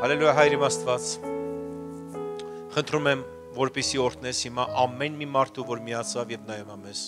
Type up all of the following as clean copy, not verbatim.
Հալելույա Հայր իմ Աստված, խնդրում եմ, որպեսզի օրհնես հիմա ամեն մի մարդու, որ միացավ եւ նայում է մեզ։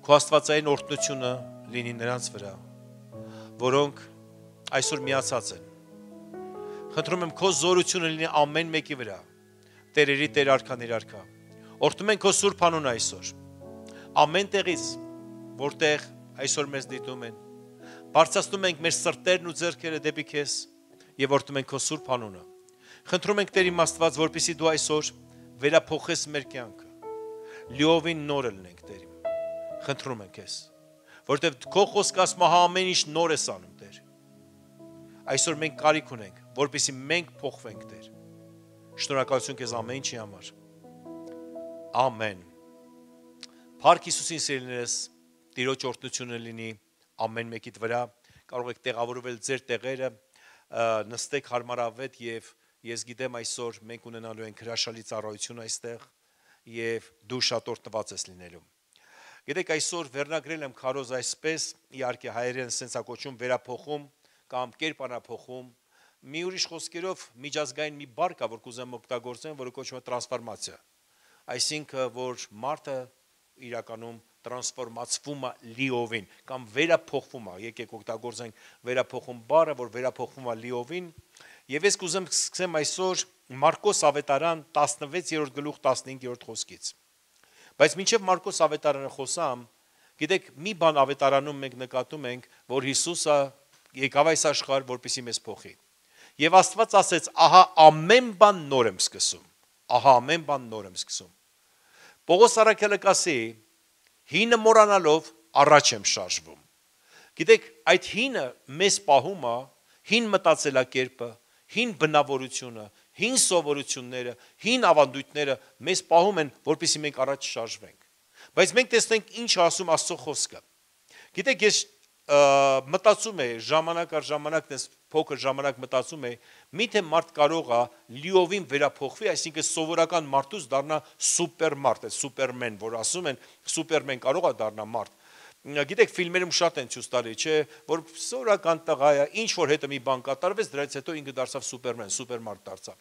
Քո աստվածային օրհնությունը լինի նրանց վրա, որոնք այսօր միացած են։ Խնդրում եմ, քո զորությունը լինի ամեն մեկի վրա, Տերերի Տեր արքաների արքա։ Օրհնում ենք քո սուրբ անունը այսօր։ Ամեն տեղից, որտեղ այսօր մեզ դիտում են, բարձրացնում ենք մեր սրտերն ու ձեռքերը դեպի քեզ եւ օրհնում ենք քո սուրբ անունը։ Խնդրում ենք Տեր իմ Աստված, որպեսզի դու այսօր վերափոխես մեր կյանքը։ Լիովին նորը լինենք, Տեր իմ։ Խնդրում ենք քեզ, որտեղ քո խոսքը ասում է ամեն ինչ նոր ես անում, Տեր։ Այսօր մենք կարիք ունենք, որպեսզի մենք փոխվենք, Տեր։ Շնորհակալություն քեզ ամեն ինչի համար։ Ամեն։ Փառք Հիսուսին սիրելիներս, Տիրոջ օրհնությունը լինի ամեն մեկիդ վրա, կարող եք տեղավորվել ձեր տեղերը, նստեք հարմարավետ եւ ես գիտեմ այսօր մենք ունենալու ենք հրաշալի ծառայություն այստեղ եւ դու շատ օրհնված ես լինելու։ Գիտեք այսօր վերնագրել եմ քարոզ այսպես, իհարկե հայերեն սենսա կոչում վերափոխում կամ կերպարանափոխում, մի ուրիշ խոսքերով միջազգային մի բառ կա, որ կուզեմ օգտագործեմ, որը կոչվում է տրանսֆորմացիա։ Այսինքն որ մարդը իրականում տրանսֆորմացվում է լիովին կամ վերափոխվում է, եկեք օգտագործենք վերափոխում բառը, որ վերափոխվում է լիովին, եւ ես կուզեմ սկսեմ այսօր Մարկոս ավետարան 16-րդ գլուխ 15-րդ խոսքից։ Բայց մինչև Մարկոս ավետարանը խոսամ, գիտեք, մի բան ավետարանում մենք նկատում ենք, որ Հիսուսը եկավ այս աշխարհ, որպեսզի մեզ փոխի։ Եվ Աստված ասեց, ահա ամեն բան նոր եմ սկսում։ Ահա ամեն բան նոր եմ սկսում։ Պողոս առաքյալը կասի, հինը մոռանալով առաջ եմ շարժվում։ Գիտեք, այդ հինը մեզ պահում է, հին մտածելակերպը, հին բնավորությունը, հին սովորությունները, հին ավանդույթները մեզ պահում են, որպեսզի մենք առաջ շարժվենք։ Բայց մենք տեսնենք ինչ ասում Աստծո խոսքը։ Գիտեք, ես մտածում եմ ժամանակ առ ժամանակ, փոքր ժամանակ մտածում եմ, միթե մարդ կարող է լիովին վերափոխվի, այսինքն սովորական մարդուց դառնա սուպերմարդ, սուպերմեն, որ ասում են, սուպերմեն կարող է դառնա մարդ։ Գիտեք, ֆիլմերում շատ են ցույց տալի, չէ, որ սովորական տղա է, ինչ որ հետը մի բան կատարվեց, դրանից հետո ինքը դարձավ սուպերմեն, սուպերմարդ դարձավ։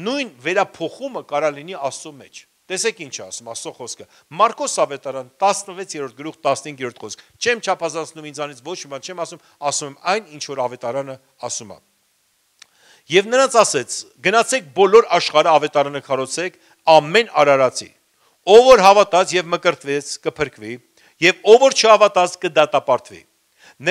Նույն վերափոխումը կարող լինի Աստծո մեջ։ Տեսեք ինչ ասում Աստծո խոսքը։ Մարկոս ավետարան 16-րդ գլուխ 15-րդ խոսք։ Չեմ չափազանցնում ինձանից ոչ մի բան, չեմ ասում եմ այն ինչ որ ավետարանը ասում է։ Եվ նրանց ասեց. գնացեք բոլոր աշխարհը ավետարանը քարոզեք ամեն արարածի։ Ով որ հավատաց եւ մկրտվեց կփրկվի, եւ ով որ չհավատաց կդատապարտվի։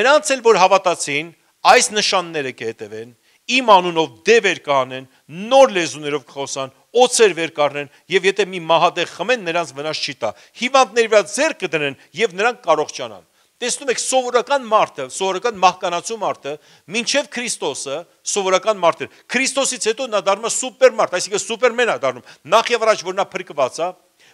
Նրանց էլ որ հավատացին, այս նշանները կհետևեն, իմ անունով դևեր կանեն, նոր լեզուներով կխոսան, օծեր վեր կառնեն, եւ եթե մի մահատեղ խմեն, նրանց վնաս չի տա։ Հիվանդների վրա ձեռք կդնեն եւ նրանք կարողանան։ Տեսնում եք, սովորական մարդը, սովորական մահկանացու մարդը, մինչև Քրիստոսը սովորական մարդ էր։ Քրիստոսից հետո նա դառնում է սուպերմարդ, այսինքն սուպերմեն է դառնում։ Նախ եւ առաջ որ նա փրկված է,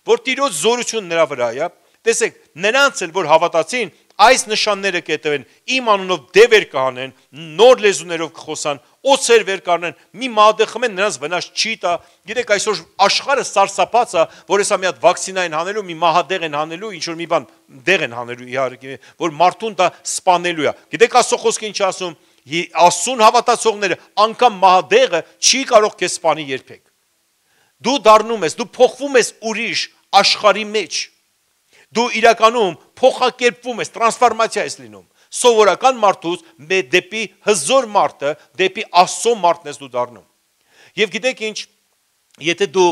որ Տիրոջ զորությունն նրա վրա է։ Տեսեք, նրանց էլ որ հավատացին, այս նշանները կհետևեն, իմ անունով դևեր կանեն, նոր լեզուներով կխոսան, օծեր վեր կառնեն, մի մահատեղ խմեն, նրանց վնաս չի տա։ Գիտեք, այսօր աշխարհը սարսափած է, որ հեսա մի հատ վակցինա են հանելու, մի մահատեղ են հանելու, ինչ որ մի բան դեղ են հանելու, իհարկե, որ մարդուն դա սպանելու է։ Գիտեք, Աստծո խոսքը ինչ ասում, Աստծուն հավատացողները, անգամ մահատեղը չի կարող քեզ սպանի երբեք։ Դու դառնում ես, դու փոխվում ես ուրիշ աշխարհի մեջ։ Դու իրականում փոխակերպվում ես, տրանսֆորմացիա ես լինում։ Սովորական մարդուց դեպի հզոր մարդը, դեպի Աստծո մարդն ես դու դառնում։ Եվ գիտեք ինչ, եթե դու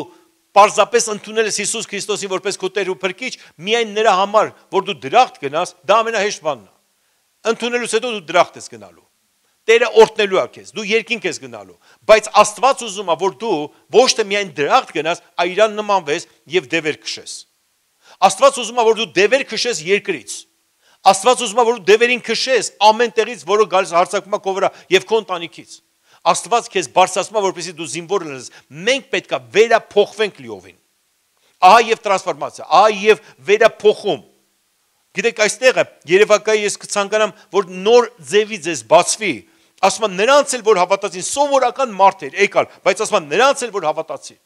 պարզապես ընդունել ես Հիսուս Քրիստոսին որպես քո Տեր ու Փրկիչ, միայն նրա համար, որ դու դրախտ գնաս, դա ամենահեշտ բանն է։ Ընդունելուց հետո դու դրախտ ես գնալու։ Տերը օրհնելու է քեզ, դու երկինք ես գնալու, բայց Աստված ուզում է, որ դու ոչ թե միայն դրախտ գնաս, այլ իրան նմանվես եւ դևեր քշես։ Աստված ուզում է, որ դու դևեր քշես երկրից։ Աստված ուզում է, որ դու դևերին քշես ամեն տեղից, որը գալիս հարձակվում է քո վրա եւ քո ընտանիքից։ Աստված քեզ բարձրացնում է, որպեսզի դու զինվոր լինես։ Մենք պետք է վերափոխվենք լիովին։ Ահա եւ տրանսֆորմացիա, ահա եւ վերափոխում։ Գիտեք, այստեղ Երևակայի ես կցանկանամ, որ նոր ձևի ձեզ բացվի։ Ասում են նրանց էլ որ հավատացին, սովորական մարդեր եկալ, բայց ասում են նրանց էլ որ հավատացին։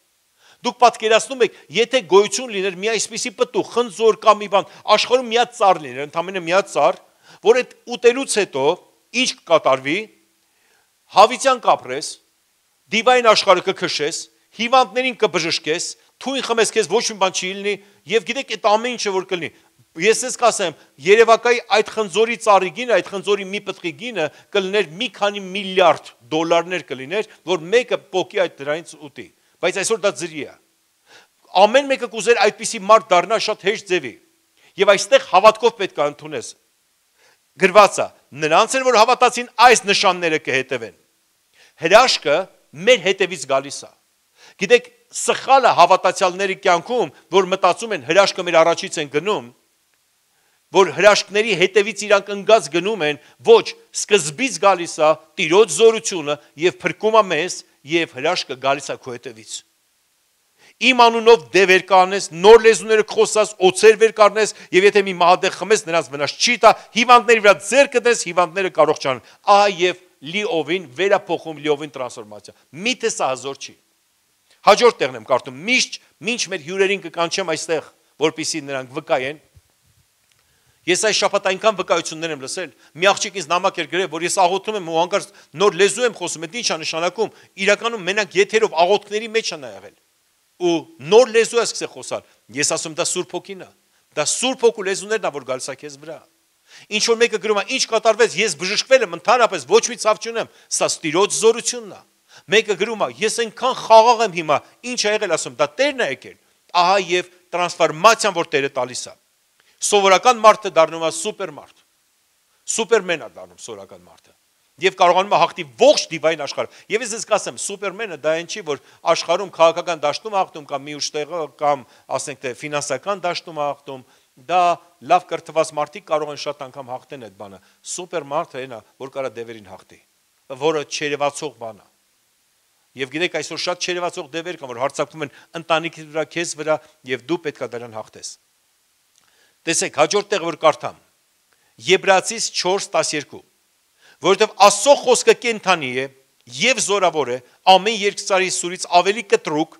Դուք պատկերացնում եք, եթե գոյություն լիներ մի այսպիսի պտուղ, խնձոր կամ մի բան, աշխարհում մի հատ ծառ լիներ, ընդամենը մի հատ ծառ, որ այդ ուտելուց հետո ինչ կկատարվի, հավիտյան կապրես, դիվային աշխարհը կքշես, հիվանդներին կբժշկես, թույն խմես քեզ ոչ մի բան չի լինի, եւ գիտեք այդ ամեն ինչը որ կլինի։ Ես ես կասեմ, Երևակայի այդ խնձորի ծառի գինը, այդ խնձորի մի պտղի գինը կլիներ մի քանի միլիարդ դոլարներ կլիներ, որ մեկը պոկի այդ դրանից ուտի։ Բայց այսօր դա ձրի է։ Ամեն մեկը կուզեր այդպիսի մարդ դառնա շատ հեշտ ձևի։ Եվ այստեղ հավատքով պետք է ընդունես։ Գրված է, նրանց են, որ հավատացին, այս նշանները կհետևեն։ Հրաշքը մեր հետևից գալիս է։ Գիտեք, սխալը հավատացյալների կյանքում, որ մտածում են հրաշքը մեր առաջից են գնում, որ հրաշքների հետևից իրանք ընկած գնում են, ոչ, սկզբից գալիս է Տիրոջ զորությունը եւ փրկում է մեզ եւ հրաշքը գալիս է քո հետևից։ Իմ անունով դևեր կանես, նոր լեզուները խոսած, օծեր վեր կառնես եւ եթե մի մահադեղ խմես, նրանց վնաս չի տա, հիվանդների վրա ձեռ կդես, հիվանդները կարողանան։ Ահա եւ լիովին վերափոխում, լիովին տրանսֆորմացիա։ Միթե սա հազոր չի։ Հաջորդ տեղն եմ կարդում, մինչ մեր հյուրերին կկանչեմ այստեղ, որպեսզի նրանք վկայեն։ Ես այս շաբաթ այնքան վկայություններ եմ լսել, մի աղջիկ ինձ նամակ էր գրել, որ ես աղոթում եմ ու հանկարծ նոր լեզու եմ խոսում, դա ի՞նչ է նշանակում, իրականում մենակ եթերով աղոթքների մեջ է նա եղել։ Ու նոր լեզու է սկսել խոսալ։ Ես ասում դա Սուրբ Հոգին է։ Դա Սուրբ Հոգու լեզուներն է, որ գալիս է քեզ վրա։ Ինչ որ մեկը գրում է, ինչ կատարվեց, ես բժշկվել եմ, ընդհանրապես ոչ մի ցավ չունեմ, սա Տիրոջ զորությունն է։ Մեկը գրում է, ես այնքան խաղաղ եմ հիմա, ինչ ա եղել, ասում, դա Տերն է եկել։ Ահա եւ տրանսֆորմացիան, որ Տերը տալիս է։ Սովորական մարդը դառնում է սուպերմարդ։ Սուպերմեն է դառնում սովորական մարդը։ Եվ կարողանում է հաղթի ողջ դիվային աշխարհը։ Եվ ես կասեմ, սուպերմենը դա այն չի, որ աշխարհում քաղաքական դաշտում է հաղթում կամ մի ուժ տեղը կամ ասենք թե ֆինանսական դաշտում է հաղթում, դա լավ կրթված մարդիկ կարող են շատ անգամ հաղթեն այդ բանը։ Սուպերմարդը այն է, որ կարա դևերին հաղթի, որը չերևացող բան է։ Եվ գիտեք, այսօր շատ չերևացող դևեր կան, որ հարձակվում են ընտանիքի վրա, քեզ վրա, եւ դու պետք է դրան հաղթես։ Տեսեք, հաջորդ տեղ որ կարդամ, Եբրայեցիս 4:12, որովհետև Աստծո խոսքը կենդանի է եւ զորավոր է, ամեն երկծարի սուրից ավելի կտրուկ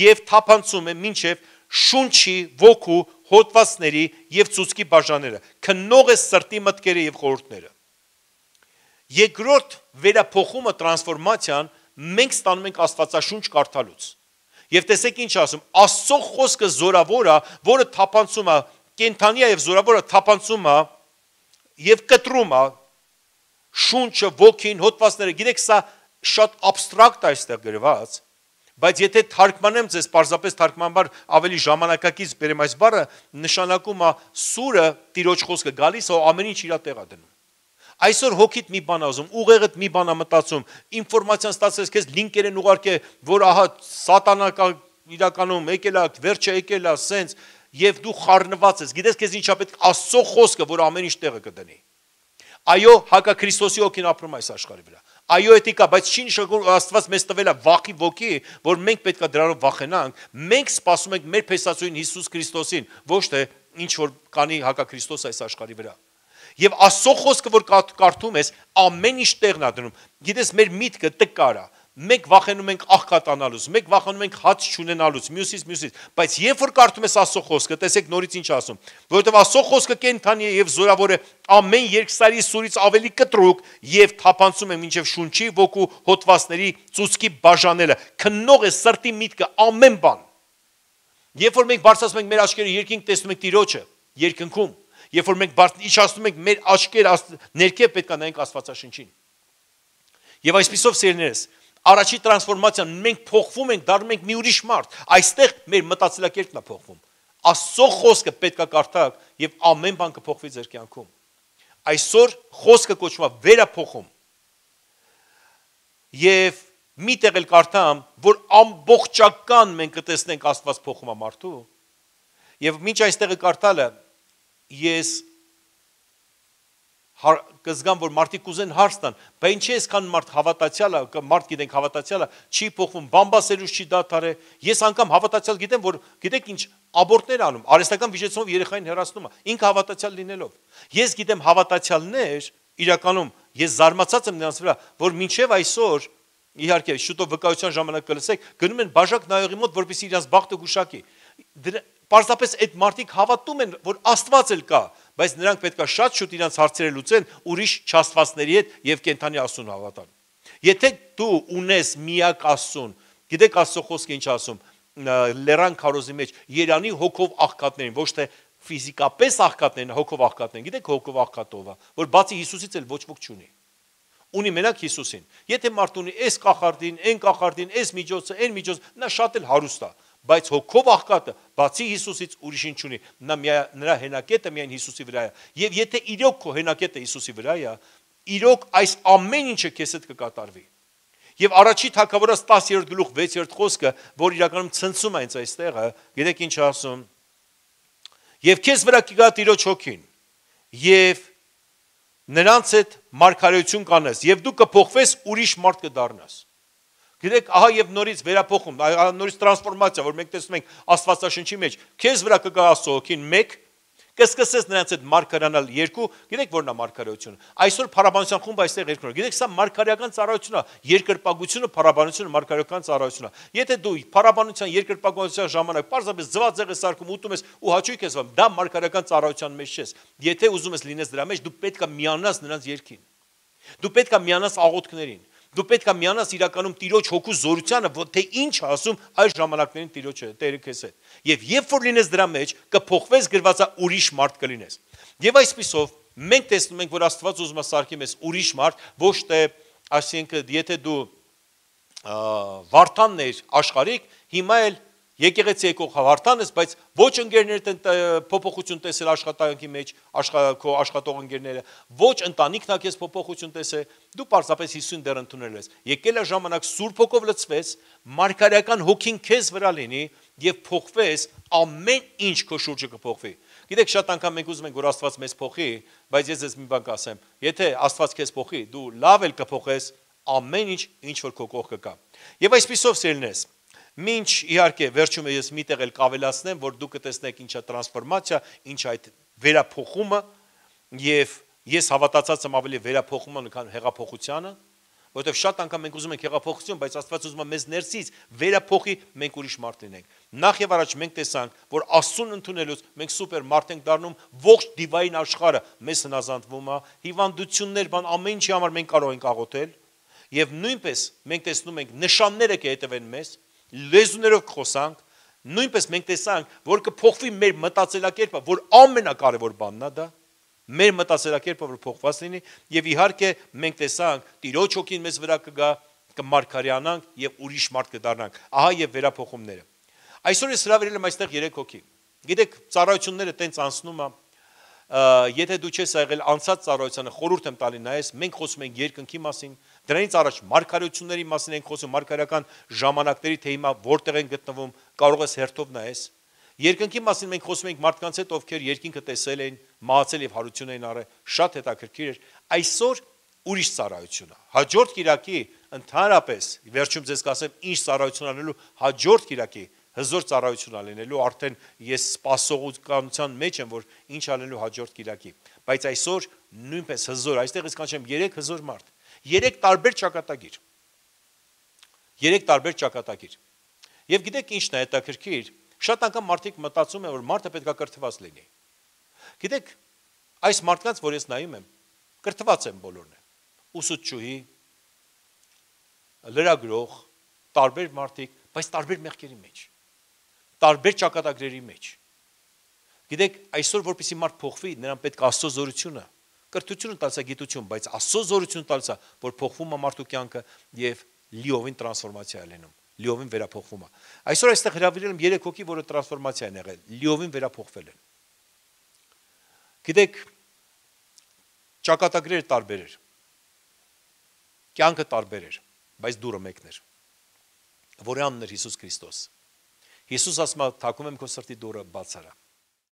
եւ թափանցում է մինչեւ շունչի, ոգու, հոտվածների եւ ծուցկի բաժանները, քննող է սրտի մտքերը եւ խորհուրդները։ Երկրորդ վերափոխումը, տրանսֆորմացիան մենք ստանում ենք Աստվածաշունչ կարդալուց։ Եվ տեսեք ինչ ասում, Աստծո խոսքը զորավոր է, որը թափանցում է, կենդանի է եւ զորավոր է, թափանցում է եւ կտրում է շունչը, ոգին, հոտվածները։ Գիտեք, սա շատ абստրակտ է այստեղ գրված, բայց եթե թարգմանեմ ձեզ, պարզապես թարգմանաբար ավելի ժամանակակից բերեմ այս բառը, նշանակում է սուրը Տիրոջ խոսքը գալիս է, ամեն ինչ իր տեղ է դնում։ Այսօր հոգիդ մի բան ասում, ուղեղդ մի բան է մտածում, ինֆորմացիան ստացես քեզ լինկեր են ուղարկե, որ ահա սատանա իրականում եկել է, վերջը եկել է, սենց, եւ դու խառնված ես։ Գիտես քեզ ինչա պետք Աստծո խոսքը, որ ամեն ինչ տեղը կդնի։ Այո, հակա Քրիստոսի հոգին ապրում այս աշխարհի վրա։ Այո, էթիկա, բայց չի նշանակում Աստված մեզ տվել է վախի ոգի, որ մենք պետք է դրանով վախենանք։ Մենք սպասում ենք մեր փեսացուին Հիսուս Քրիստոսին, ոչ թե ինչ որ կանի հակա Քրիստոս այս աշխարհի վրա։ Եվ Աստծո խոսքը, որ կարդում ես, ամեն ինչ տեղն է դնում։ Գիտես, մեր միտքը տկար է։ Մենք վախենում ենք աղքատանալուց, մենք վախենում ենք հաց չունենալուց, մյուսից, բայց երբ որ կարդում ես Աստծո խոսքը, տեսեք նորից ինչ ասում, որովհետև Աստծո խոսքը կենդանի է եւ զորավոր է, ամեն երկսարի սուրից ավելի կտրուկ եւ թափանցում է մինչեւ շունչի, ոգու, հոտվածների, ծուցկի բաժանելը, քննող է սրտի միտքը, ամեն բան։ Երբ որ մենք բարձրացնում ենք մեր աչքերը երկինք, տեսնում ենք Տիրոջը, երկնքում, երբ որ մենք իջացնում ենք մեր աչքերը ներքև, պետք է նայենք Աստվածաշնչին։ Եվ այսպիսով սիրելիներս, առաջի տրանսֆորմացիան մենք փոխվում ենք, դառնում ենք մի ուրիշ մարդ։ Այստեղ մեր մտածելակերպն է փոխվում։ Աստծո խոսքը պետք է կարդաք եւ ամեն բան կփոխվի ձեր կյանքում։ Այսօր խոսքը կոչվում է վերափոխում։ Եվ մի տեղ էլ կարդամ, որ ամբողջական մենք կտեսնենք Աստված փոխում է մարդու։ Եվ մինչ այստեղը կարդալը ես կզգամ, որ մարդիկ կուզեն հարց տան, բայց ինչի այսքան մարդ հավատացյալ է, մարդ գիտենք հավատացյալ է, չի փոխվում, բամբասելուց չի դադարե։ Ես անգամ հավատացյալ գիտեմ, որ գիտեք ինչ աբորտներ անում, արհեստական վիճեցումով երեխային հեռացնում է, ինքը հավատացյալ լինելով։ Ես գիտեմ հավատացյալներ, իրականում ես զարմացած եմ նրանց վրա, որ մինչև այսօր, իհարկե, շուտով վկայության ժամանակ կլսեք, գնում են բաժակ նայողի մոտ, որպեսզի իրենց բախտը գուշակի։ Պարզապես այդ մարդիկ հավատում են, որ Աստված էլ կա, բայց նրանք պետք է շատ շուտ իրենց հարցերը լուծեն ուրիշ չաստվածների հետ եւ կենթանի Աստծուն հավատան։ Եթե դու ունես միակ Աստծուն, գիտեք Աստծո խոսքը ինչ ասում, լեռան քարոզի մեջ Երանի հոգով աղքատներին, ոչ թե ֆիզիկապես աղքատներին, հոգով աղքատներին, գիտեք հոգով աղքատովը, որ բացի Հիսուսից էլ ոչ ոք չունի։ Ունի մենակ Հիսուսին։ Եթե մարդ ունի այս կախարդին, այն կախարդին, այս միջոցը, այն միջոցը, նա շատ էլ հարուստ է, բայց հոգով աղքատը բացի Հիսուսից ուրիշին չունի։ Նրա հենակետը միայն Հիսուսի վրա է։ Եվ եթե իրոք քո հենակետը Հիսուսի վրա է, իրոք այս ամեն ինչը քեզ հետ կկատարվի։ Եվ առաջի թագավորաց 10-րդ գլուխ 6-րդ խոսքը, որ իրականում ցնցում է հենց այստեղը, գիտեք ինչ ասում։ Եվ քեզ վրա կգա Տիրոջ հոգին, եւ նրանց հետ մարգարեություն կանես, եւ դու կփոխվես ուրիշ մարդ կդառնաս։ Գիտեք, ահա եւ նորից վերափոխում, նորից տրանսֆորմացիա, որ մենք տեսնում ենք Աստվածաշնչի մեջ, քեզ վրա կգա Աստծո հոգին 1, կսկսես նրանց հետ մարգարանալ 2, գիտեք որն է մարգարեությունը։ Այսօր փառաբանության խումբը այստեղ երկրորդ։ Գիտեք, սա մարգարեական ծառայություն է, երկրպագությունը, փառաբանությունը մարգարեական ծառայություն է։ Եթե դու փառաբանության երկրպագության ժամանակ պարզապես ձվածեղ ես սարքում, ուտում ես ու հաճույք ես վարում, դա մարգարեական ծառայության մեջ չես։ Եթե ուզում ես լինես դրա մեջ, դու պետք է միանաս նրանց երգին։ Դու պետք է միանաս աղոթքներին։ Դու պետք է միանաս իրականում Տիրոջ հոգու զորությանը, թե ինչ ասում այս ժամանակներին Տիրոջը, Տերը քեզ հետ։ Եվ երբ որ լինես դրա մեջ, կփոխվես գրվածա ուրիշ մարդ կլինես։ Եվ այսպիսով մենք տեսնում ենք, որ Աստված ուզում է սարքի մեզ ուրիշ մարդ, ոչ թե, այսինքն, եթե դու Վարդանն ես աշխարհիկ, հիմա էլ եկեղեցի եկող Վարդան ես, բայց ոչ ընկերներդ են փոփոխություն տեսել աշխատանքի մեջ, քո աշխատող ընկերները, ոչ ընտանիքն է քեզ փոփոխություն տեսել, դու պարզապես Հիսուսին դեռ ընդունել ես։ Եկել է ժամանակ Սուրբ Հոգով լցվես, մարգարեական հոգին քեզ վրա լինի եւ փոխվես, ամեն ինչ քո շուրջը կփոխվի։ Գիտեք, շատ անգամ մենք ուզում ենք, որ Աստված մեզ փոխի, բայց ես մի բան կասեմ, եթե Աստված քեզ փոխի, դու լավ էլ կփոխես ամեն ինչ որ քո կողքը կա։ Եվ այսպիսով սիրելիներս, Մինչ իհարկե վերջում ես միտեղ էլ կավելացնեմ, որ դուք կտեսնեք ինչա տրանսֆորմացիա, ինչ այդ վերափոխումը, եւ ես հավատացած եմ ավելի վերափոխումը, քան հեղափոխությանը, որովհետեւ շատ անգամ մենք ուզում ենք հեղափոխություն, բայց Աստված ուզում է մեզ ներսից վերափոխի, մենք ուրիշ մարդ լինենք։ Նախ եւ առաջ մենք տեսանք, որ Աստծուն ընդունելուց մենք սուպեր մարդ ենք դառնում, ողջ դիվային աշխարհը մեզ հնազանդվում է, հիվանդություններ, բան ամեն ինչի համար մենք կարող ենք աղոթել, եւ նույնպես մենք տեսնում ենք նշանները կհետևեն մեզ, լեզուներով կխոսանք, նույնպես մենք տեսանք, որ կփոխվի մեր մտածելակերպը, որ ամենակարևոր բանն է դա, մեր մտածելակերպը որ փոխված լինի, եւ իհարկե մենք տեսանք Տիրոջ հոգին մեզ վրա կգա, կմարգարյանանք եւ ուրիշ մարդ կդառնանք։ Ահա եւ վերափոխումները։ Այսօր ես հրավիրել եմ այստեղ 3 հոգի։ Գիտեք, ծառայությունները տենց անցնում է, եթե դու չես եղել անցած ծառայությանը, խորհուրդ եմ տալի նայես, մենք խոսում ենք երկնքի մասին, դրանից առաջ մարգարեությունների մասին ենք խոսում, մարգարեական ժամանակների, թե հիմա որտեղ են գտնվում, կարող ես հերթով նայես։ Երկնքի մասին մենք խոսում ենք մարդկանց հետ, ովքեր երկինքը տեսել են, մահացել եւ հարություն են առել, շատ հետաքրքիր էր։ Այսօր ուրիշ ծառայություն է։ Հաջորդ կիրակի ընդհանրապես, վերջում ձեզ կասեմ, ինչ ծառայություն անելու, հաջորդ կիրակի հզոր ծառայություն անելու, արդեն ես սպասողականության մեջ եմ, որ ինչ անելու հաջորդ կիրակի։ Բայց այսօր նույնպես հզոր, այստեղ ես կանչեմ 3 հզոր մարդ, 3 տարբեր ճակատագիր։ 3 տարբեր ճակատագիր։ Եվ գիտեք ինչն է հետաքրքիր, շատ անգամ մարդիկ մտածում են, որ մարդը պետք է կրթված լինի։ Գիտեք, այս մարդկանց, որ ես նայում եմ, կրթված են բոլորն են։ Ուսուցչուհի, լրագրող, տարբեր մարդիկ, բայց տարբեր մեղքերի մեջ, տարբեր ճակատագրերի մեջ։ Գիտեք, այսօր որպեսզի մարդ փոխվի, նրան պետք է Աստծո զորությունը, կրթությունը տալիս է գիտություն, բայց Աստծո զորությունը տալիս է, որ փոխվում է մարդու կյանքը եւ լիովին տրանսֆորմացիա է լինում, լիովին վերափոխվում է։ Այսօր այստեղ հրավիրել եմ 3 հոգի, որը տրանսֆորմացիա են եղել, լիովին վերափոխվել են։ Գիտեք, ճակատագրերը տարբեր էր, կյանքը տարբեր էր, բայց դուրը մեկն էր, որի անունն էր Հիսուս Քրիստոս։ Հիսուս ասում է, թակում եմ քո սրտի դուռը, բաց արա։